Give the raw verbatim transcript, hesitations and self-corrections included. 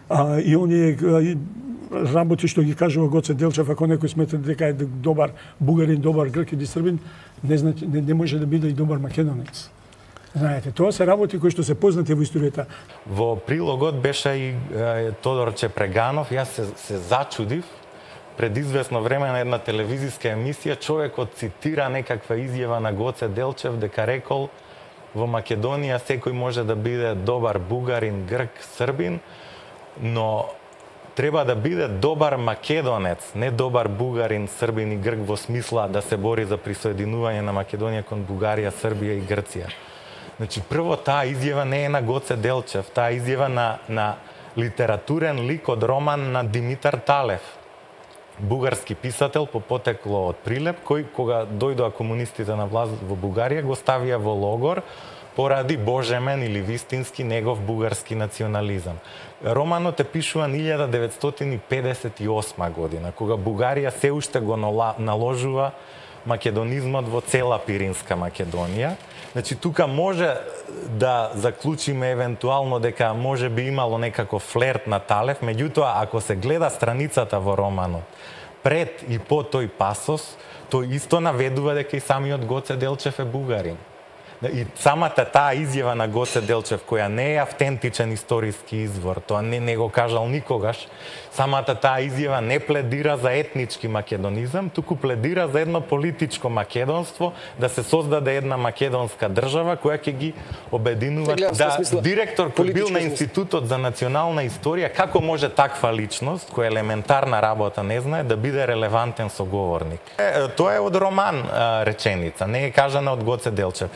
а, и оние работи што ги кажува Гоце Делчев, ако некој смета дека е добар бугарин, добар грк или србин, не, значи, не, не може да биде и добар македонец. Знаете, тоа се работи кои што се познати во историјата. Во прилогот беше и е, Тодорче Преганов, јас се, се зачудив. Пред известно време на една телевизиска емисија човекот цитира некаква изјава на Гоце Делчев дека рекол во Македонија секој може да биде добар бугарин, грк, србин, но треба да биде добар македонец, не добар бугарин, србин и грк во смисла да се бори за присоединување на Македонија кон Бугарија, Србија и Грција. Значи, прво, таа изјава не е на Гоце Делчев, таа изјава на, на литературен лик од роман на Димитар Талев, бугарски писател по потекло од Прилеп, кој кога дојдоа комунистите на власт во Бугарија го ставија во логор поради божемен или вистински негов бугарски национализам. Романот е пишуван илјада деветстотини педесет и осма година, кога Бугарија се уште го наложува македонизмот во цела Пиринска Македонија. Значи, тука може да заклучиме евентуално дека може би имало некако флерт на Талев, меѓутоа, ако се гледа страницата во романот, пред и по тој пасос, тој исто наведува дека и самиот Гоце Делчев е бугарин. И самата таа изјава на Гоце Делчев, која не е автентичен историски извор, тоа не, не го кажал никогаш, самата таа изјава не пледира за етнички македонизам, туку пледира за едно политичко македонство, да се создаде една македонска држава која ќе ги обединува. Да, директор кој бил на Институтот за национална историја, како може таква личност, која елементарна работа не знае, да биде релевантен соговорник? Тоа е од роман реченица, не е кажана од Гоце Делчев.